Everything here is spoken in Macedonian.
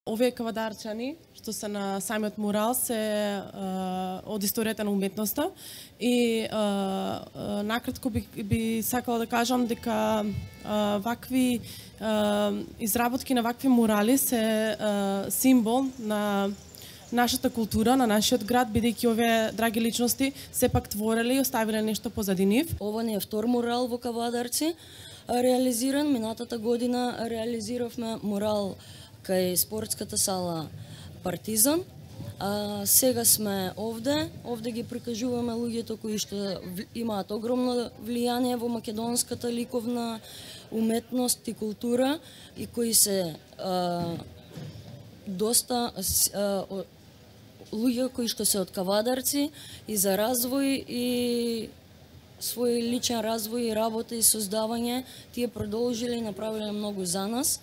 Овие кавадарчани што се на самиот мурал се од историјата на уметноста и накратко би сакала да кажам дека вакви изработки на вакви мурали се символ на нашата култура, на нашиот град, бидејќи овие драги личности сепак твореле и оставиле нешто позади нив. Ова не е втор мурал во Кавадарци реализиран. Минатата година реализиравме мурал кај спортската сала Партизан. Сега сме овде ги прикажуваме луѓето кои што имаат огромно влијание во македонската ликовна уметност и култура и кои се доста луѓе кои што се од Кавадарци и за развој и свој личен развој и работа и создавање, тие продолжиле и направиле многу за нас.